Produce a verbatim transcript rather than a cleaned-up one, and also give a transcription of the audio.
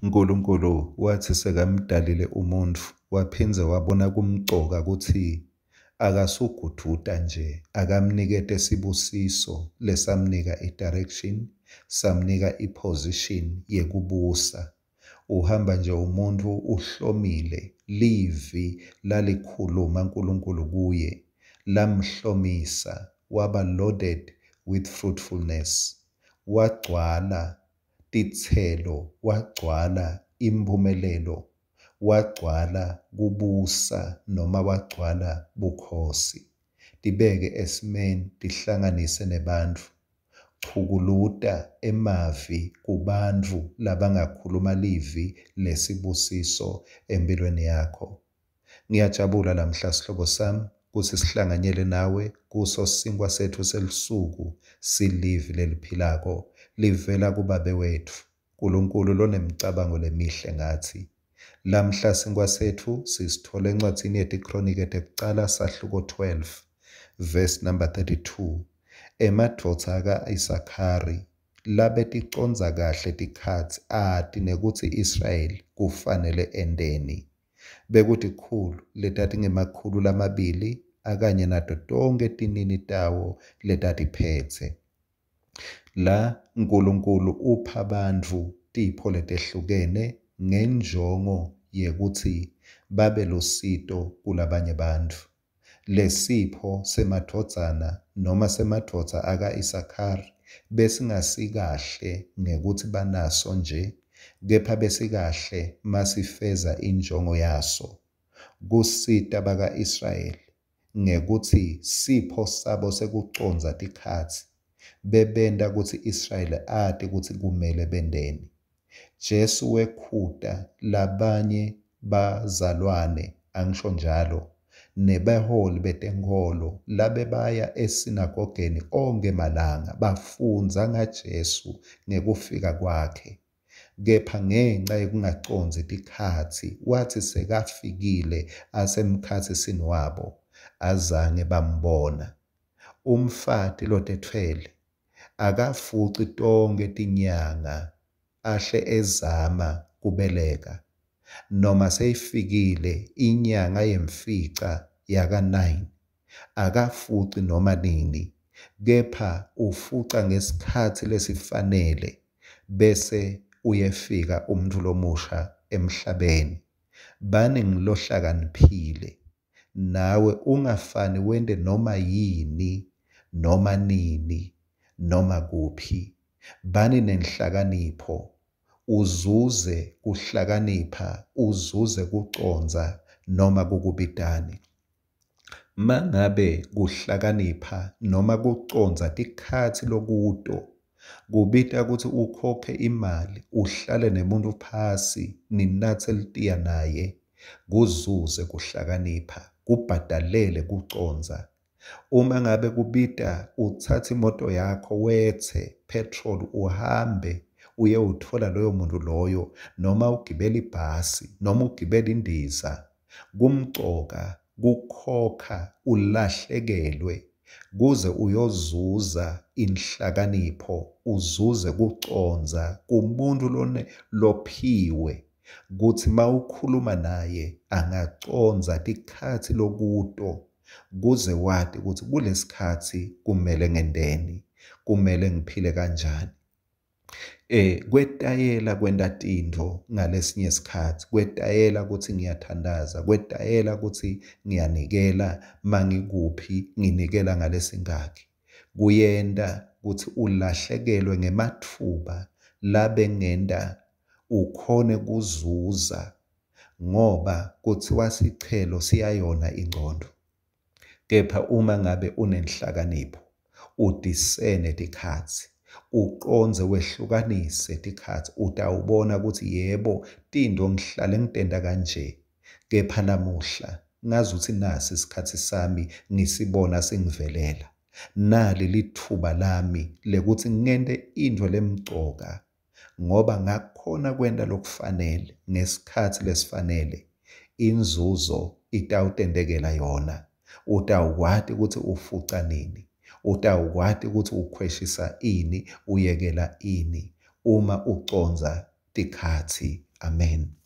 Nkulunkulu watsi sekamdalile umuntfu, waphindze wabona kumcoka kutsi akasuguduta nje, akamnikete sibusiso lesamnika i-direction, samnika i-position yekubusa. Uhamba nje umuntfu uhlomile, livi lalikhuluma Nkulunkulu kuye lamhlomisa, waba loaded with fruitfulness, wagcwala titselo, wagcwala imphumelelo, wagcwala kubusa noma wagcwala bukhosi. Tibeke esimeni, tihlanganise nebantfu, chukuluta emavi kubantfu labangakhuluma livi lesibusiso empilweni yakho. Ngiyajabula lamhla, sihlobo sami, kutsi sihlanganyele nawe kuso sinkwa setfu selusuku, silivi leliphilako livela kuBabe wetfu Nkulunkulu lonemicabango lemihle ngatsi. Lamhla sinkwa setfu sisithola encwadzini yetiKronike tekucala, sahluko twelve, verse number thirty-two. Emadvodza aka-Isakhari labeticondza kahle tikhatsi, ati nekutsi Israyeli kufanele enteni. Bekutikhulu letatingemakhulu lamabili akanye nato tonkhe tinini tawo letatiphetse. La Nkulunkulu upha bantfu tipho letehlukene ngenjongo yekutsi babe lusito kulabanye bantfu. Lesipho semadvodzana noma semadvodza aka-Isakhari besingasikahle ngekutsi banaso nje, kepha besikahle masifeza injongo yaso, kusita baka-Israyeli ngekutsi sipho sabo sekucondza tikhatsi bebenta kutsi Israyeli ati kutsi kumele benteni. Jesu wekhuta labanye bazalwane, angisho njalo, nebaholi betenkholo labebaya esinagogeni onkhe malanga bafundza ngaJesu ngekufika kwakhe. Kepha ngenca yekungacondzi tikhatsi, watsi sekafikile asemkhatsisini wabo, azange bambona. Umfati lotetfwele akafuci tonkhe tinyanga ahle ezama kubeleka, noma seyifikile inyanga yemfica yaka nine, akafuci noma nini, kepha ufuca ngesikhatsi lesifanele, bese uyefika umuntu lomusha emhlabeni. Bani ngilohlakaniphile, nawe ungafani wente noma yini, noma nini, noma kuphi. Bani nenhlakanipho, uzuze kuhlakanipha, uzuze kucondza noma kukubitani. Mangabe kuhlakanipha noma kucondza tikhatsi lokuto, kubita kutsi ukhokhe imali, uhlale nemuntu phasi, ninatse litiya naye, kuzuze kuhlakanipha, kubhadalele kucondza. Uma ngabe kubita utsatse imoto yakho wetse petrol uhambe uyewutfola loyo muntu loyo, noma ugibele ibhasi noma ugibele indiza, kumcoka kukhokha ulahlekelwe kuze uyozuza inhlakanipho, uzuze kucondza kumuntu lone lophiwe kutsi mawukhuluma naye angacondza tikhatsi lokuto, kuze wati kutsi kulesikhatsi kumele ngenteni, kumele ngiphile kanjani. Eh kwetayela kwenta tintfo ngalesinye isikhatsi, kwetayela kutsi ngiyathandaza, kwetayela kutsi ngiyanikela, mangikuphi nginikela ngalesingaki, kuyenta kutsi ulahlekelwe ngematfuba labengenta ukhone kuzuza, ngoba kutsiwa sichelo siyayona ingcondo. Kepha uma ngabe unenhlakanipho, udisene tikhatsi, uqondze wehlukanise tikhatsi, utawubona kutsi yebo tintfo ngihlale ngitenta kanje, kepha namuhla ngazuthi nasi isikhatsi sami ngisibona singivelela. Nali litfuba lami lekuthi ngente intfo lemcoka, ngoba ngakhona kwenta lokufanele ngesikhatsi lesifanele, inzuzo itawutentekela yona. Utawukwati kutsi ufuca nini, utawukwati kutsi ukhweshisa ini, uyekela ini, uma ucondza tikhatsi. Amen.